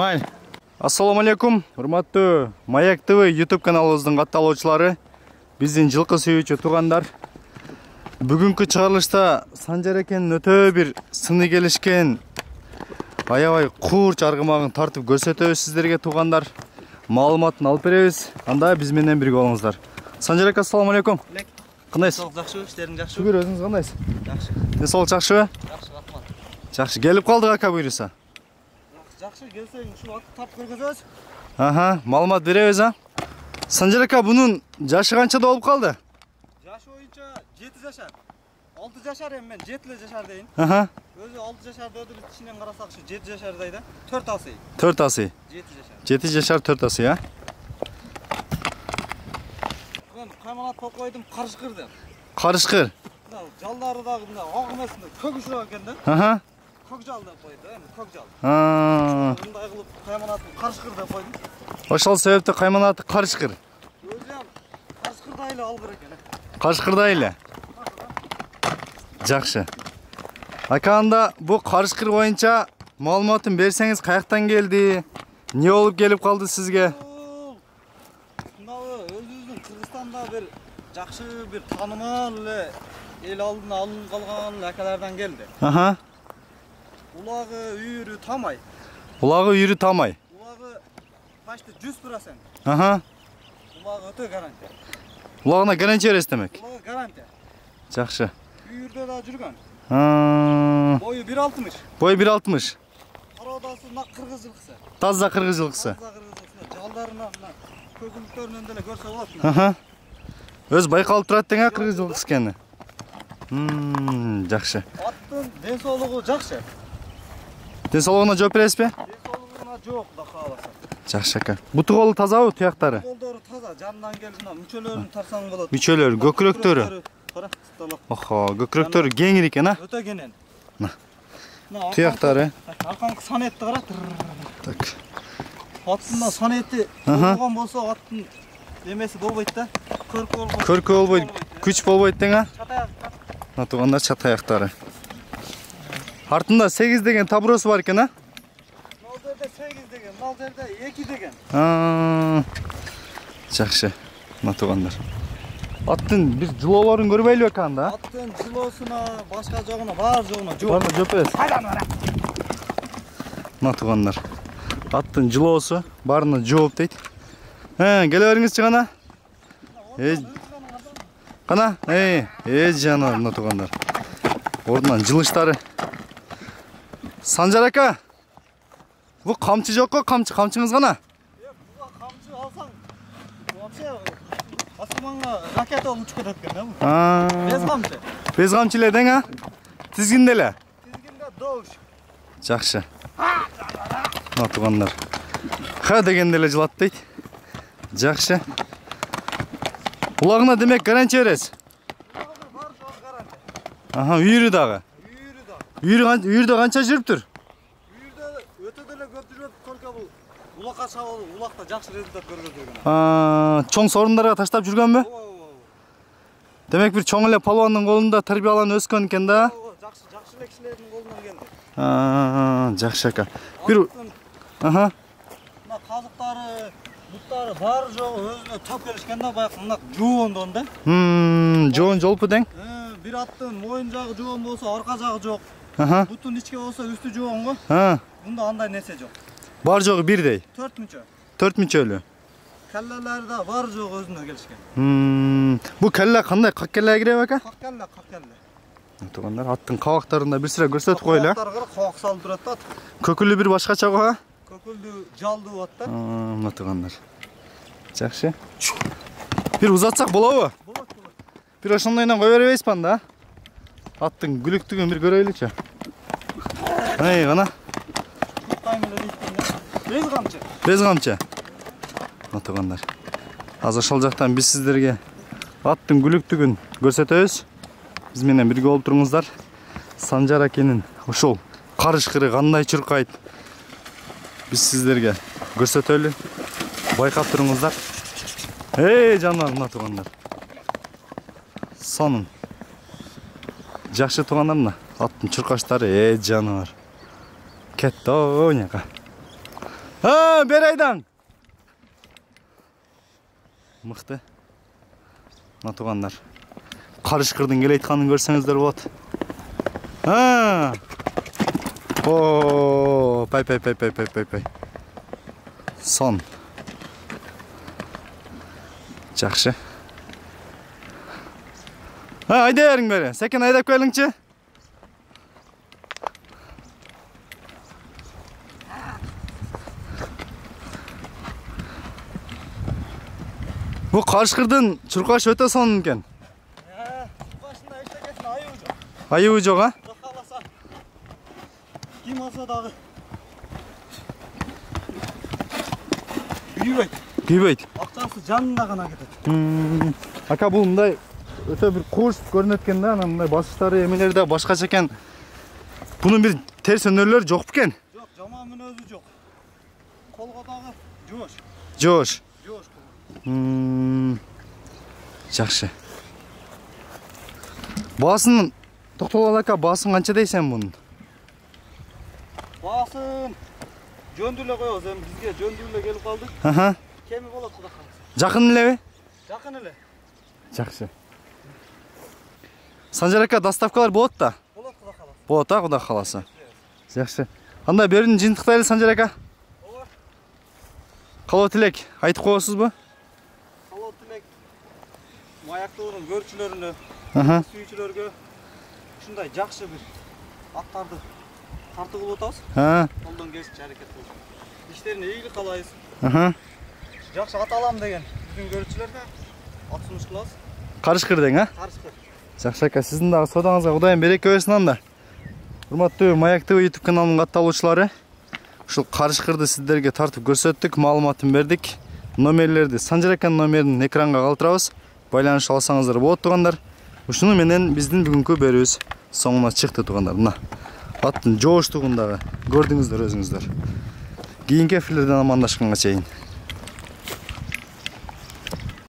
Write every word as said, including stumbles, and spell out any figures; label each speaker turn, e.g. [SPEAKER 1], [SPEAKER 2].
[SPEAKER 1] Май. Ассаламу алейкум, урматтуу Маяк ТВ YouTube каналыбыздын катталуучулары, биздин жылкы сүйүүчү туугандар. Бүгүнкү чыгарылышта Санжар экенин өтө бир сыны келишкен аябай курч аргымагын тартып көрсөтөбүз сиздерге туугандар. Маалыматын алып беребиз. Анда биз менен бирге болуңуздар. Санжар ака, ассаламу алейкум. Кандайсыз?
[SPEAKER 2] Жакшы, иштериң жакшы.
[SPEAKER 1] Шүгүр, өзүңүз кандайсыз?
[SPEAKER 2] Жакшы.
[SPEAKER 1] Ден жакшыбы?
[SPEAKER 2] Жакшы, рахмат.
[SPEAKER 1] Жакшы, келип калдык ака буйруса.
[SPEAKER 2] Жакшы, келсең ушул атты тап көргөзөбүз.
[SPEAKER 1] Аха, маалымат беребиз, а? Санжар ака, бунун жашы канчада болуп калды?
[SPEAKER 2] Жашы боюнча жети жашар. алты жашар эми мен жети жашар дейин.
[SPEAKER 1] Аха.
[SPEAKER 2] Өзү алты жашар деді биз ичинен карасак ушу жети жашардай да. төрт асый.
[SPEAKER 1] төрт асый.
[SPEAKER 2] жети жашар.
[SPEAKER 1] жети жашар, төрт асый, а?
[SPEAKER 2] Мен кайманат коп койдум, карышкыр деп.
[SPEAKER 1] Карышкыр.
[SPEAKER 2] Мына жалдары дагы мына ак эмесинде көк ушук экен да.
[SPEAKER 1] Аха.
[SPEAKER 2] Көк жал деп койду, эми көк жал.
[SPEAKER 1] Аа.
[SPEAKER 2] Мындай кылып кайманатын карышкыр деп койдум.
[SPEAKER 1] Ошол себептен кайманаты карышкыр.
[SPEAKER 2] Өзү ham карышкырдай эле алгыр экен.
[SPEAKER 1] Карышкырдай эле. Жакшы. Ака, анда бу карышкыр боюнча маалыматын берсеңиз, каяктан келди? Не болуп келип калды сизге?
[SPEAKER 2] Мынабы өзүбүздүн Кыргызстанда бир жакшы бир таанымал эле эл алдына алынып калган акалардан келди.
[SPEAKER 1] Аха.
[SPEAKER 2] Улагы, үйүрү тамай.
[SPEAKER 1] Улагы, үйүрү тамай.
[SPEAKER 2] Улагы почти жүз процент.
[SPEAKER 1] Аха.
[SPEAKER 2] Улагы өтө гарантия.
[SPEAKER 1] Улагына гарантия бересиз демек?
[SPEAKER 2] Улагы гарантия.
[SPEAKER 1] Жакшы.
[SPEAKER 2] Үйүрдө да жүргөн.
[SPEAKER 1] Аа.
[SPEAKER 2] Бою бир алтымыш.
[SPEAKER 1] Бою бир алтымыш.
[SPEAKER 2] Кароодасы мына кыргыз жылкысы.
[SPEAKER 1] Таза кыргыз жылкысы.
[SPEAKER 2] Таза кыргыз жылкысы. Жалдарына мына көкүлүктөрүнөн деле көрсө болот.
[SPEAKER 1] Аха. Өз байкалып турат дең, а, кыргыз жылкысы экени. Мм, жакшы.
[SPEAKER 2] Аттын ден соолугу жакшы.
[SPEAKER 1] Ден соолугуна жооп бересизби?
[SPEAKER 2] Ден соолугуна жок да кааласа.
[SPEAKER 1] Жакшы ака. Буту колу тазабы, туяктары?
[SPEAKER 2] Колдору таза, жанынан келип мына мүчөлөрүн тарсаң болот.
[SPEAKER 1] Мүчөлөр, көкүрөктөрү.
[SPEAKER 2] Кара, столок.
[SPEAKER 1] Охо, көкүрөктөрү кеңир экен, а?
[SPEAKER 2] Өтө кенен.
[SPEAKER 1] Мына. Туяктары.
[SPEAKER 2] Аркаңкы санетти кара.
[SPEAKER 1] Так.
[SPEAKER 2] Аттын санети болгон болсо аттын эмеси болбойт да. Көркү болбойт.
[SPEAKER 1] Көркү болбойт, күч болбойт дең, а?
[SPEAKER 2] Чатаяк.
[SPEAKER 1] Мына туугандар, чатаяктары. Артында сегиз деген табуросу бар экен, а?
[SPEAKER 2] Мал жерде сегиз деген, мал жерде эки деген.
[SPEAKER 1] Аа. Жакшы. Мына туугандар. Аттын бир жылоолорун көрбөйлүбү экен анда?
[SPEAKER 2] Аттын жылоосуна, башка жогуна, бар жогуна жок.
[SPEAKER 1] Барына жооп бересиз?
[SPEAKER 2] Кайдан бара?
[SPEAKER 1] Мына туугандар. Аттын жылоосу барына жооп дейт. Э, келе бериңизчи гана. Э. Кана? Э, э жанар мына туугандар. Ордунан жылыштары. Санжар ака. Бу камчы жокко, камчы, камчыңыз гана.
[SPEAKER 2] Э, буга камчы алсаң, вообще асманга ракета болуп учуп кетет экен да бу.
[SPEAKER 1] Аа.
[SPEAKER 2] Без камчы.
[SPEAKER 1] Без камчы эле дең, а? Тизгинде эле.
[SPEAKER 2] Тизгинде доуш.
[SPEAKER 1] Жакшы. Мына туугандар. Ха дегенде эле жылат дейт. Жакшы. Улагына демек гарантия бересиз?
[SPEAKER 2] Бар жок гарантия.
[SPEAKER 1] Аха, үйүрү дагы.
[SPEAKER 2] Үйүрү да.
[SPEAKER 1] Үйүрү канча, үйүрдө канча жүрүптүр?
[SPEAKER 2] Үйүрдө өтө деле көп жүрөт, только бул улакка чабуу, улакта жакшы результат көргөзүлгөн.
[SPEAKER 1] Аа, чоң сорундарга таштап жүргөнбү? Демек бир чоң эле палуандын колунда тарбияланып өскөн экен да?
[SPEAKER 2] Жакшы, жакшы эле кишилердин колунан келди.
[SPEAKER 1] Аа, жакшы ака. Бир аха.
[SPEAKER 2] Мына казыктары, буттары бар жогу өзүнө топ келишкен да, баягы мына жоондон да.
[SPEAKER 1] Хм, жоон жолпу дең?
[SPEAKER 2] Э, бир аттын моюн жагы жоон болсо, арка жагы жок.
[SPEAKER 1] Аха.
[SPEAKER 2] Бутун ичке болсо, үстү жоон го.
[SPEAKER 1] Ха.
[SPEAKER 2] Мында андай нерсе жок.
[SPEAKER 1] Бар жогу бирдей.
[SPEAKER 2] төрт мүчө.
[SPEAKER 1] төрт мүчөлүү.
[SPEAKER 2] Келлелери да бар жогу өзүнө келишкен.
[SPEAKER 1] Хм, бу келле кандай? Как келле киреби ака?
[SPEAKER 2] Как келле, как келле.
[SPEAKER 1] Туугандар, аттын кабактарында бир сыра көрсөтүп коелу.
[SPEAKER 2] Кабактарга кабак салып турат да.
[SPEAKER 1] Көкүлү бир башкача го, а?
[SPEAKER 2] Көкүлдү жалдуу ат да.
[SPEAKER 1] Аа, мына туугандар. Жакшы. Бир узатсак болобу?
[SPEAKER 2] Болот, болот.
[SPEAKER 1] Бир ошондойдон кое бербейсизби анда? Аттын күлүктүгүн бир көрөйлүчү. Ай, гана.
[SPEAKER 2] Без камчы.
[SPEAKER 1] Без камчы. Мына туугандар. Азыр ошол жактан биз сиздерге аттын күлүктүгүн көрсөтөбүз. Биз менен бирге болуп туруңуздар. Санжар акенин ошол карышкыры кандай чуркайт? Биз сиздерге көрсөтөлү. Байкап туруңуздар. Эй, жандар, мына туугандар. Сонун. Жакшы туугандар мына. Аттын чуркаштары, э жанар. Кетті ойнеға. Ha, beri aydan. Mıқты. Mına tuğanlar. Karışkırdın gele aytkanын görseňizler bolat. Ha. Oo, pay pay pay pay pay pay pay. Son. Жақсы. Ha, ayda yarın beri. Sekin aydap koyalımçı. Bu Karışkırdın çurkaş öte son eken.
[SPEAKER 2] He, çurkaşında işlekesin ayı ucu.
[SPEAKER 1] Ayı ucu ha?
[SPEAKER 2] Kalasa. Kim alsa dağı. Büyübeyt.
[SPEAKER 1] Büyübeyt.
[SPEAKER 2] Akçası canına gana gider.
[SPEAKER 1] Hmm. Aka bu mындай öte bir kurs görünөт экен да, мындай басыштары эмелери да башкача экен. Bunun bir ters önerileri yok beken?
[SPEAKER 2] Yok, jamamın özü yok. Kolga dağı joş.
[SPEAKER 1] Joş.
[SPEAKER 2] Joş.
[SPEAKER 1] Hmm. Жақсы. Басын токтолгон ака, басын канча дейсен bunun?
[SPEAKER 2] Басын жөндү эле коебуз, эми бизге жөндү эле келип калды.
[SPEAKER 1] Аха.
[SPEAKER 2] Кеми болот кудай каласа.
[SPEAKER 1] Жакын элеби?
[SPEAKER 2] Жакын эле.
[SPEAKER 1] Жақсы. Санжар ака, доставкалар болот да?
[SPEAKER 2] Болот кудай каласа.
[SPEAKER 1] Болот а, кудай каласа. Жақсы. Анда берин жыйынтыктайлы Санжар ака.
[SPEAKER 2] Ооба.
[SPEAKER 1] Калоо тилек айтып коесузбу?
[SPEAKER 2] Калоо тилек маяктуулун көрчүлөрүнө,
[SPEAKER 1] Аха.
[SPEAKER 2] сүйүүчүлөргө ушундай жакшы бир аттарды тартуу кылып атабыз.
[SPEAKER 1] Ha.
[SPEAKER 2] Колдон келишинче аракет кылып. Иштерине ийгилик каалайбыз.
[SPEAKER 1] Аха.
[SPEAKER 2] Жакшы ат алам деген биздин көрүүчүлөргө ат сунуш кылабыз.
[SPEAKER 1] Карышкыр дең, а?
[SPEAKER 2] Карышкыр.
[SPEAKER 1] Жақсы ака, сіздің дағы содаңызға Құдайым береке берсін анда. Урматтуу Маяк ТВ YouTube каналының катталуучулары, ушул Карышкырды сиздерге тартып көрсөттүк, маалыматын бердик. Номерлерди Санжар аканын номерин экранга калтырабыз. Байланыш алсаңыздар болот тугандар. Ушуну менен биздин бүгүнкү берүүбүз соңуна чыкты тугандар. Мына аттын жооштугун дагы көрдүңүздөр өзүңүздөр. Кийинки эфирлерден амандашканга чейин.